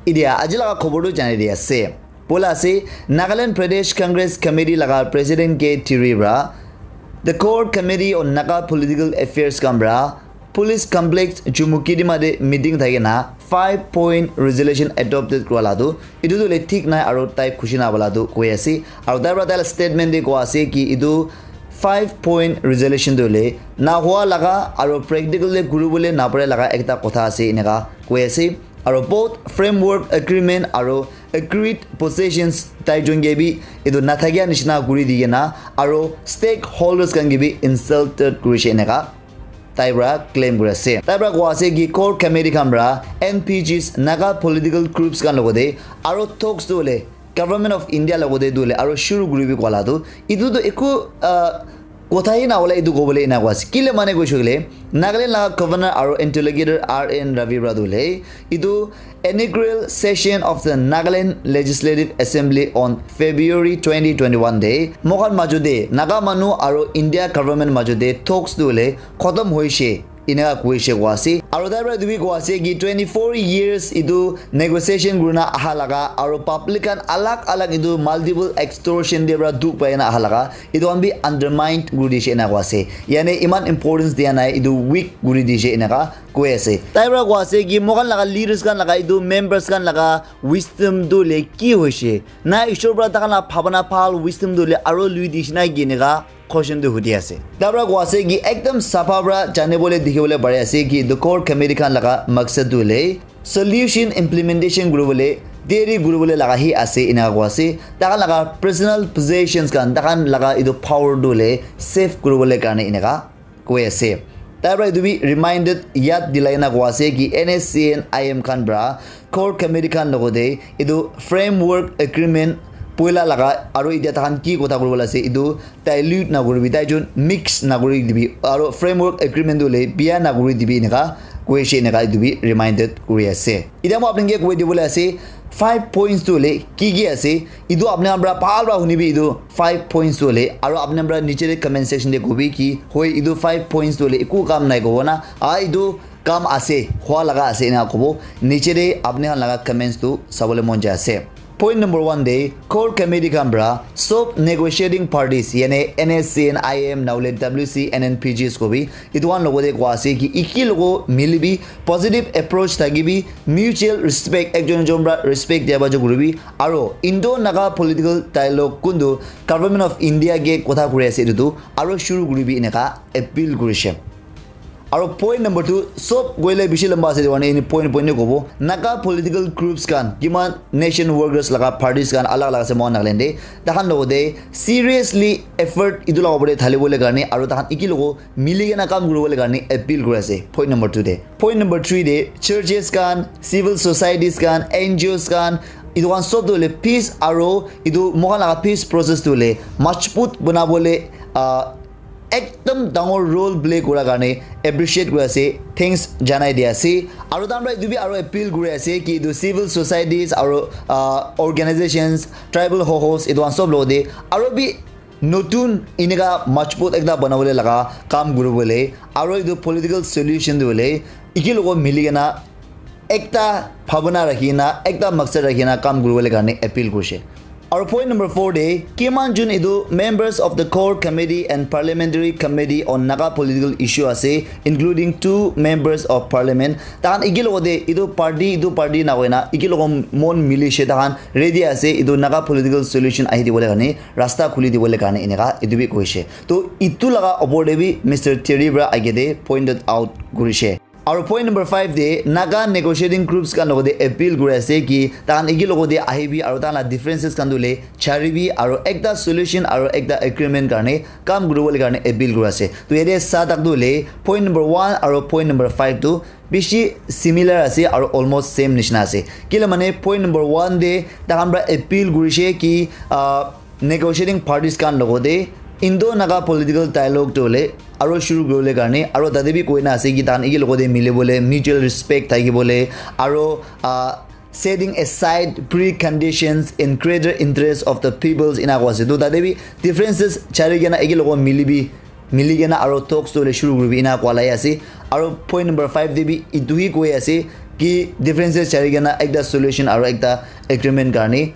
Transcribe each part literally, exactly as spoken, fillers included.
Idia aji laga khobor tu janai di ase. Poila ase, Nagaland Pradesh Congress Committee laga President K Tiri pra, the Core Committee on Naga Political Affairs kan pra, Police Complex Chumukedima de meeting thakina five point resolution adopted kura la tu, itu tu le thik nai aro tai khushi na bala tu koi ase. Aro tai pra tai la statement de koi ase ki itu five point resolution tu le na hua laga aro practical de guru bole na pare laga ekta kotha ase ineka koi ase. Aro both framework agreement aro agreed positions tai jun ke bi itu na thakia nishina guri di kena aro stakeholders kan ke bi insulted kuri she ineka tai pra claim kuri ase. Tai pra koi ase ki core committee kan pra N P Gs, Naga political groups kan logote aro talks tu le Government of India logote tu le aro shuru kuri bi koi la tu itu tu eku, ah, kotha hi na hola itu kobole ena koi ase. Kile mane koi shukile, Nagaland laga Governor aro interlocutor R N Ravi pra tu le itu inaugural session of the Nagaland Legislative Assembly on February twenty twenty-one de moikhan majo de Naga manu aro India government majo de talks tu le khotom hoishe. Ineka koishe koi ase. Aro tai pra etu bi koi ase ki twenty-four years itu negotiation kurina aha laga aro public khan alag alag itu multiple extortion de pra dukh pai na aha laga itu khan bi undermine kuri dishe ena koi ase. Yane iman importance dia nai, itu weak kuri dishe eneka koi ase. Tai pra koi ase ki moikhan laga leaders khan laga itu members khan laga wisdom tu le ki hoishe? Na Ishwar pra takhan la bhabana bhal wisdom tu le aro lui dishe nai ki eneka question tu hudi ase. Tabra koi ase ki ekdam sapha pra jane bole dikhi bole pari ase ki the core committee khan laga maksad tu le solution implementation kuri bole deri kuri bole laga hi ase ena koi ase. Takhan laga personal possessions khan, takhan laga itu power tu le save kuri bole karne eneka koi ase. Tabra itu bi reminded yad dilai na koi ase ki N S C N I M khan pra core committee khan logote itu framework agreement poila laga aro itia takhan ki kotha kuribole ase itu dilute na kuribi, tai jun mix na kuri dibi aro framework agreement tu le bia na kuri dibi eneka koi ase eneka itu bi reminded kuri ase. Itia moi apni ke koi dibole ase five points tu le ki ki ase itu apni khan pra bhal pra hunibi itu five points tu le aro apni khan pra niche de comment section de kobi ki hoi itu five points tu le eku kam nai kobo na a itu kam ase, hua laga ase ena kobo. Niche de apni khan laga comments tu sabole mon jai ase. Point number one de core committee khan pra sob negotiating parties yane N S C N I M naule W C N N P Gs kobi itu khan logote koi ase ki iki logo milibi positive approach thakibi mutual respect ekjon ekjon pra respect dia bajo kuribi aro Indo Naga political dialogue kundu Government of India ke kotha kuri ase itu tu aro shuru kuribi eneka appeal kurishe. Aro point number two, sob koile bishi lamba ase, etu karne point point te kobo. Naga political groups khan, kiman nation workers laga parties khan alag alag ase mohan Nagaland te. Takhan logote seriously effort etu laga opor te thali bole karne, aro takhan iki logo mili kena kam kuri bole karne appeal kuri ase. Point number two te. Point number three te, churches khan, civil societies khan, N G Os khan, etu khan sob tu hoile peace aro etu mohan laga peace process tu hoile majbut bana bole, ah, ekdam dangor role play kura karne appreciate kuri ase, thanks janai di ase. Aro takhan pra etu bi aro appeal kuri ase ki etu civil societies aro, ah, organizations, tribal hohos etu khan sob logote aro bi notun eneka majbut ekta banabole laga kam kuribole aro etu political solution tu hoile iki logo mili kena ekta bhabana rakhi kena, ekta maksad rakhi kena kam kuribole karne appeal kurishe. Aro point number four te, kiman jun etu members of the core committee and parliamentary committee on Naga political issue ase, including two members of parliament. Takhan iki logote etu party, etu party na koina, iki logo mon milishe takhan ready ase, etu Naga political solution ahi dibole karne, rasta khuli dibole karne eneka etu bi koishe. To etu laga opor te bi Mister Terry pra age te pointed out kurishe. Aro point number five te Naga negotiating groups khan logote appeal kuri ase ki takhan iki logote ahibi aro takhan la differences khan tu hoile charibi aro ekta solution aro ekta agreement karne kam kuribole karne appeal kuri ase. To yate sa tak tu hoile point number one aro point number five tu bishi similar ase aro almost same nishina ase. Kile mane point number one te takhan pra appeal kurishe ki, ah, negotiating parties khan logote Indo Naga political dialogue tu hoile aro shuru kuribole karne aro tate bi koina ase ki takhan iki logote milibole, mutual respect thakibole aro, ah, setting aside preconditions in greater interest of the peoples ena koi ase. To tate bi differences chari kena iki logo milibi, mili kena aro talks tu hoile shuru kuribi ena koa lai ase. Aro point number five te bi etu hi koi ase, ki differences chari kena ekta solution aro ekta agreement karni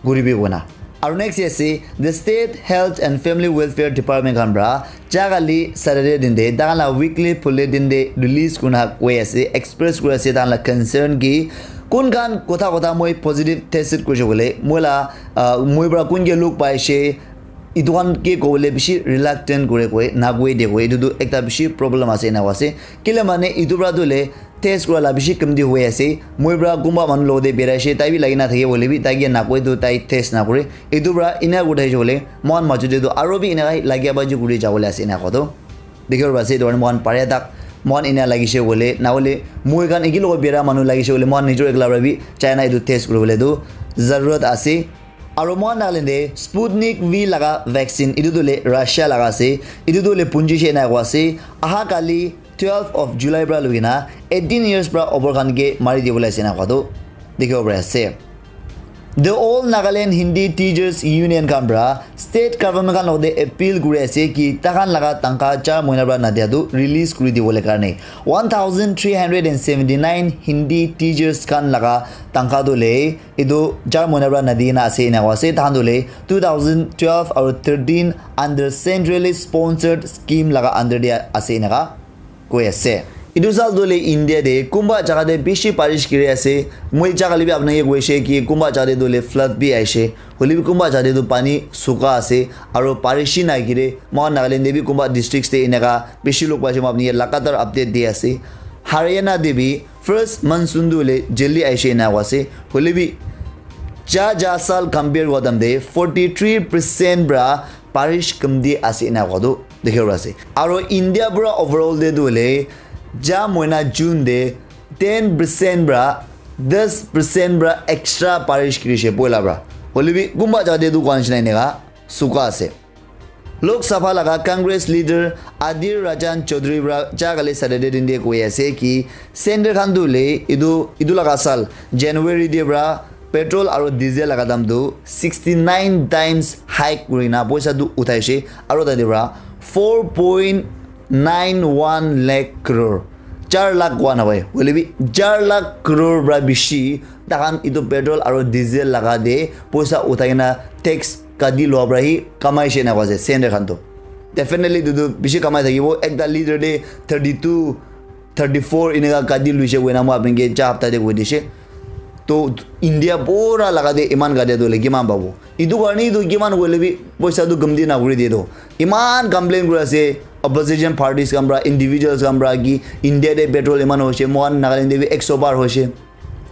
guribi kona. Aro next ase, the State Health and Family Welfare Department khan pra jaga li Saturday din de, tahan la weekly bulletin de release kurna koi ase, express kuri ase tahan la concern ki kun khan kotha kotha moi positive tested kurishe koile, moi la, ah, moi pra kun ke luk paishe, itu khan ke kobole bishi reluctant kure koi, na koi de koi, itu tu ekta bishi problem ase ena koi ase. Kile mane itu pra tu le test kura la bishi kamti hoi ase. Moi pra kunba manu logote beraishe, tai bi lagi na thake hoile bi, tai ke nakoi tu tai test nakore. Etu pra ena kuri thakishe hoile, moikhan majo te tu aro bi eneka lagia baji kuri jabole ase ena koa tu. Dikhibo pari ase, etu karne moikhan pare tak, moikhan ena lagishe hoile, nahole moikhan eki logot bera manu lagishe hoile, moikhan nijor ekla pra bi China etu test kuribole tu zarurat ase. Aro moikhan Nagaland te Sputnik V laga vaccine, etu tu le Russia laga ase, etu tu le punji she ena koa ase, aha kali twelve of July pra loi kena eighteen years pra over khan ke mari dibole ase na koa tu dikhibo pari ase. The All Nagaland Hindi Teachers Union khan pra state government khan logote appeal kuri ase ki taikhan laga tangkha char mohina pra nadia tu release kuri dibole karne one thousand three hundred and seventy nine Hindi teachers khan laga tangkha tu le etu char mohina pra nadi na ase ena koa ase. Taikhan tu le two thousand twelve aru thirteen under centrally sponsored scheme laga under de ase eneka koi ase. Etu sal tu le India te kunba jaga te bishi barish giri ase. Moi jaga le bi apni ke koishe ki kunba jaga te tu le flood bi aishe. Hoile bi kunba jaga te tu pani suka ase. Aru barish hi nai gire. Moikhan Nagaland te bi kunba districts te eneka bishi log paishe, moi apni ke lagatar update di ase. Haryana te bi first monsoon tu le jaldi aishe ena koa ase. Hoile bi ja ja sal compare kura time te forty three percent pra barish kamti ase ena koa tu dikhibo pari ase. Aro India pura overall te tu hoile ja mohina June te ten percent pra ten percent pra extra barish girishe poila pra. Hoile bi kunba jaga te tu koa nishina eneka suka ase. Lok Sabha laga Congress leader Adhir Ranjan Chaudhary pra ja kali Saturday din de koi ase ki center khan tu le etu, etu laga sal January de pra petrol aru diesel laga dam tu sixty nine times hike kuri na poisa tu uthaishe aru tate pra four point nine one lakh crore, char lakh koa nahoi, hoile bi char lakh crore pra bishi taikhan etu petrol aru diesel laga de poisa uthai kena tax kati lua pra hi kamaishe ena koa ase center khan tu. Definitely etu tu bishi kamai thakibo. Ekta leader te thirty two, thirty four eneka kati luishe koina moi apni ke ja hapta te koi dishe. To India pura laga te iman kati tu le kiman pabo? Etu karne etu kiman koile bi poisa tu kamti nakuri de tu. Iman complain kuri ase opposition parties khan pra, individuals khan pra ki India te petrol iman hoishe, moikhan Nagaland te bi ekso par hoishe,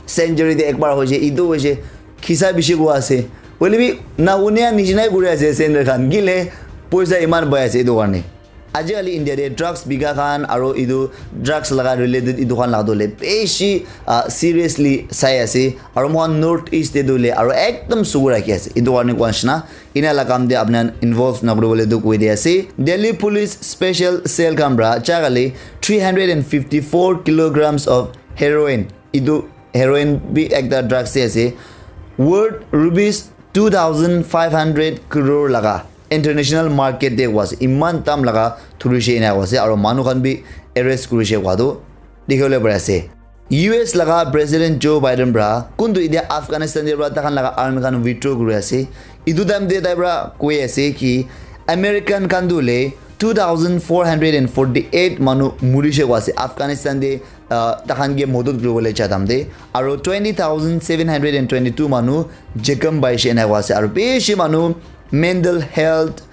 century te ekbar hoishe, etu hoishe, khisa bishi koa ase. Hoile bi na unia nijinai kuri ase center khan. Kile poisa iman pai ase etu karne. Ajikali India te drugs bika khan aru etu drugs laga related etu khan laga tu le bishi, ah, seriously sai ase. Aru moikhan North East te tu le aru ekdum sugu rakhi ase. Etu karne koa nishina ena la kam te apni khan involve nakuri bole tu koi di ase. Delhi Police Special Cell khan pra ja kali three hundred and fifty four kilograms of heroin, etu heroin bi ekta drugs te ase, worth rupees two thousand five hundred crore laga international market te koa ase. Iman dam laga thurishe ena koa ase, aru manu khan bi arrest kurishe koa tu dikhibo le pari ase. U S laga President Joe Biden pra kuntu etia Afghanistan te pra taikhan laga army khan withdraw kuri ase. Etu time te tai pra koi ase ki American khan tu le two thousand four hundred and forty eight manu murishe koa ase Afghanistan te, ah, taikhan ke modot kuribole ja time te, aru twenty thousand seven hundred and twenty two manu jekham paishe ena koa ase, aru bishi manu mental health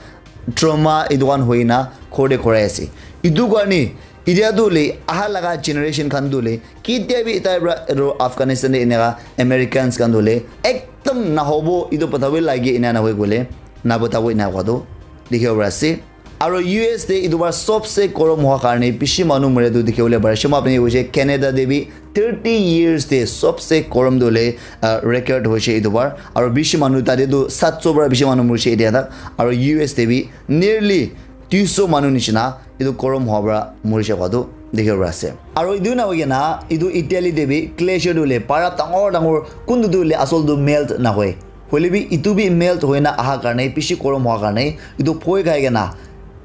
trauma etu khan hoina ghor te ghurai ase. Etu karne etia tu le aha laga generation khan tu le ketia bi tai pra etu Afghanistan te eneka Americans khan tu le ekdum nahobo, etu pata bi lage ena nahoi koile nabotabo ena koa tu dikhibo pari ase. Aru U S te etu bar sobse korom hoa karne bishi manu mura tu dikhi bole pare. Shema apni hoise Canada te bi thirty years te sobse korom tu le, ah, record hoise etu bar. Aru bishi manu tate tu satso para bishi manu murise etia tak. Aru U S te bi nearly duiso manu nishina etu korom hoa para murise koa tu dikhi bole pare ase. Aru etu na hoi kena etu Italy te bi glacier tu le para dangor dangor kuntu tu le asol tu melt na hoi. Hoile bi etu bi melt hoina aha karne bishi korom hoa karne etu phoi khai kena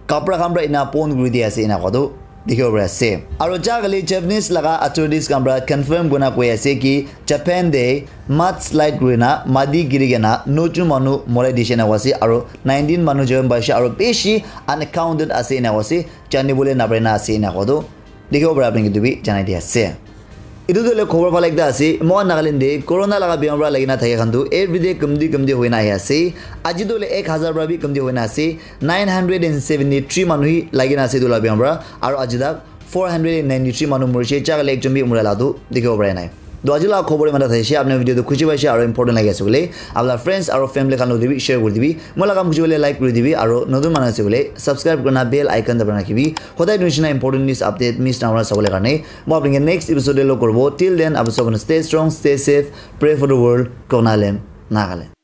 kapra khan pra ena pon kuri di ase ena koa tu dikhibo pari ase. Aru ja kali Japanese laga authorities khan para confirm kurina koi ase ki Japan te mudslide kurina mati giri kena noijun manu morai dishe na koise aru nineteen manu jon paishe aru bishi unaccounted ase ena koise, janibole napaina ase ena koa tu dikhibo pari apni khan etu bi janai di ase. Etu tu hoile khobor bhal ekta ase. Moikhan Nagaland te corona laga bimar para lagina thaka khan tu everyday kumti kumti hoina ahi ase. Aji tu hoile ek hazar para bi kumti hoina ase. Nine hundred and seventy three manu hi lagina ase etu la bimar para. Aru aji tak four hundred and ninety three manu morishe, ja kali ekjon bi mura la tu dikhibo pari nai. To aji la khobor imanta thaishe, apni video tu khushi paishe aru important lagi ase koile, apni la friends aru family khan loti bi share kuri dibi. Moi la kam khushi hoile like kuri dibi aru notun manu ase koile subscribe kurina bell icon dabai rakhibi. Hodai nishina important news update miss na hona sabole karne. Moi apni next episode te log koribo. Till then, apni sabon stay strong, stay safe, pray for the world, Konalem, Nagaland.